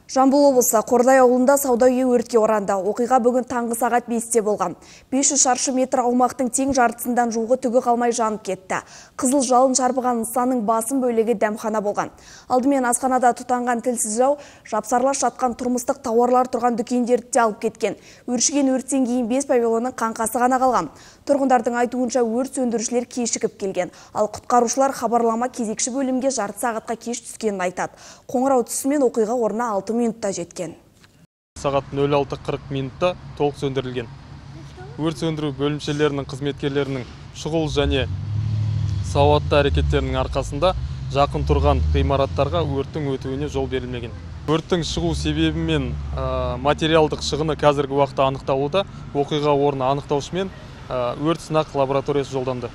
Жамбыл облысы Қордай ауылында сауда үйі өртке оранды. Оқиға бүгін таңғы сағат 5-те болған. 500 шаршы метр аумақтың тең жартысынан жуығы түгі қалмай жанып кетті. Қызыл жалын шарпыған нысанның басым бөлігі дәмхана болған. Алдымен асханада тұтанған тілсіз жау жапсарлас жатқан тұрмыстық тауарлар тұрған дүкендерді де алып кеткен. Өршіген өрттен кейін 5 павильонның қаңқасы ғана қалған. Тұрғындардың айтуынша өрт сөндірушілер кешігіп келген. Ал құтқарушылар хабарлама кезекші бөлімге жарты сағатқа кеш түскенін айтады. Қоңырау түсімен оқиға орнына 6 минутта жеткен. Сағат 06:40 минутта толық сөндірілген. Өрт сөндіру бөлімшелерінің қызметкерлерінің шұғыл және сауатты әрекеттерінің арқасында жақын тұрған ғимараттарға өрттің өтуіне жол берілмеген. Өрттің шығу себебі мен материалдық шығыны қазіргі уақытта анықталуда. Оқиға орны анықтаушымен өрт сынақ лабораториясы жолданды.